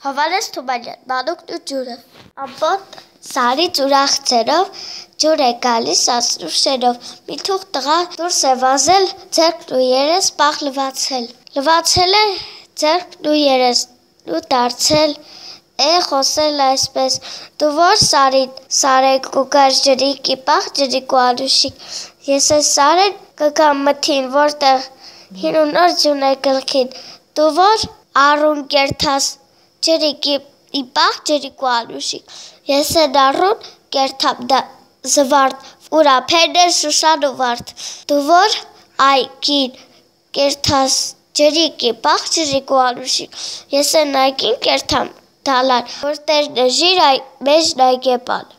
Հովհաննես Թումանյան, Մանուկն ու ջուրը։ Ամբողջ սարից ուրախ ձեռով ջուր է գալիս անցնու շերով։ Մի թուղթ տղա դուրս է վազել, ձեռքն ու երես պաղ լվացել։ Լվացել է ձեռքն ու երեսն ու դարձել խոսել այսպես. դու որ սարին սարեք ու գար ջրիկի պաղ ջրիկ ու անուշիկ։ Ես այս սարեն կգամ մթին, որտեղ հին ու նոր ջուրն է գլխին։ Դու որ առուն կերթաս ջրիկի պաղ ջրիկ ու անուշիկ։ Ես են առուն կերթամ զվարթ, ուր ափերն են շուշան ու վարդ։ Դու որ այգին կերթաս ջրիկի պաղ ջրիկ ու անուշիկ։ Ես են այգին կերթամ դալար, որ տերն է ժիր մեջն այգեպան։